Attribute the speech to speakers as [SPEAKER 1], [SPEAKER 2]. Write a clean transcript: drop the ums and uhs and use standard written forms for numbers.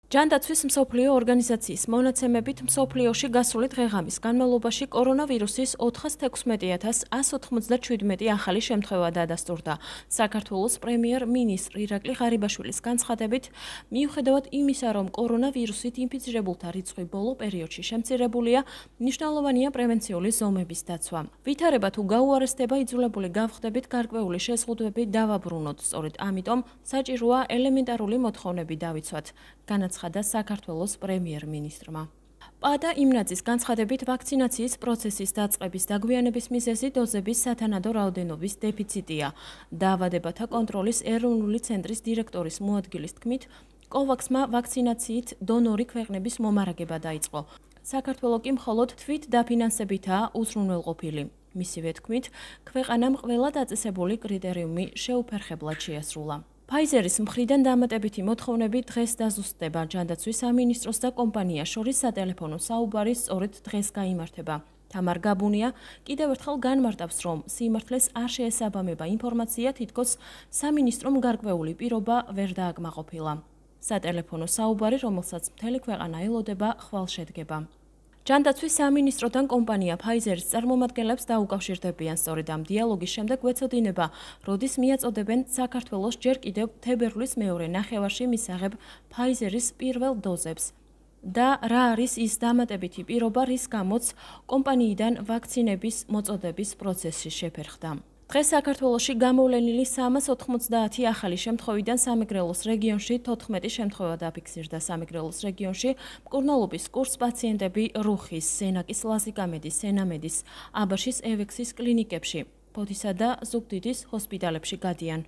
[SPEAKER 1] ჯანდაცვის მსოფლიო ორგანიზაციის მონაცემებით მსოფლიოში გასული დღე-ღამის განმავლობაში კორონავირუსის 416,197 ახალი შემთხვევა დადასტურდა. საქართველოს პრემიერ-მინისტრ ირაკლი ღარიბაშვილის განცხადებით, მიუხედავად იმისა, რომ კორონავირუსით ინფიცირებულთა რიცხვი ბოლო პერიოდში შემცირებულია, მნიშვნელოვანია პრევენციული ზომების დაცვა. ვითარება თუ გაუარესდება, იძულებული გავხდებით გარკვეული შეზღუდვები დავაბრუნოთ. სწორედ ამიტომ საჭიროა ელემენტარული მოთხოვნები დავიცვათ. განაცხადა საქართველოს პრემიერ-მინისტრმა. პადა იმნაძის განცხადებით, ვაქცინაციის პროცესის დაწყების დაგვიანების მიზეზი დოზების სათანადო რაოდენობის დეფიციტია. დაავადებათა კონტროლის ეროვნული ცენტრის დირექტორის მოადგილის თქმით, კოვაქსმა ვაქცინაციით დონორი ქვეყნების მომარაგება დაიწყო. საქართველო კი მხოლოდ თვით დაფინანსებითაა უზრუნველყოფილი. მისივე თქმით, ქვეყანამ ყველა დაწესებული კრიტერიუმი შეუფერხებლად შეასრულა. Pfizer-ის მხრიდან დამატებითი მოთხოვნები დღეს დაზუსტდება. ჯანდაცვის სამინისტროს და კომპანიას შორის სატელეფონო საუბარი სწორედ დღეს გაიმართება. თამარ გაბუნია კიდევ ერთხელ განმარტავს, რომ სიმართლეს არ შეესაბამება ინფორმაცია, თითქოს სამინისტრომ გარკვეული პირობა ვერ დააკმაყოფილა. სატელეფონო საუბარი, რომელსაც მთელი ქვეყანა ელოდება, ხვალ შედგება. ჯანდაცვის სამინისტროდან კომპანია Pfizer-ის წარმომადგენლებს დაუკავშირდებიან. სწორედ ამ დიალოგის შემდეგ გვეცოდინება, როდის მიაწოდებენ საქართველოს ჯერ კიდევ თებერვლის მეორე ნახევარში მისაღებ Pfizer-ის პირველ დოზებს და რა არის ის დამატებითი პირობა, რის გამოც კომპანიიდან ვაქცინების მოწოდების პროცესი შეფერხდა. დღეს საქართველოში გამოვლენილი 390 ახალი შემთხვევიდან სამეგრელოს რეგიონში 14 შემთხვევა დაფიქსირდა. სამეგრელოს რეგიონში მკურნალობის კურს პაციენტები რუხის, სენაკის ლაზიკამედის, სენამედის, აბაშის ევექსის კლინიკებში, ფოთისა და ზუგდიდის ჰოსპიტალებში გადიან.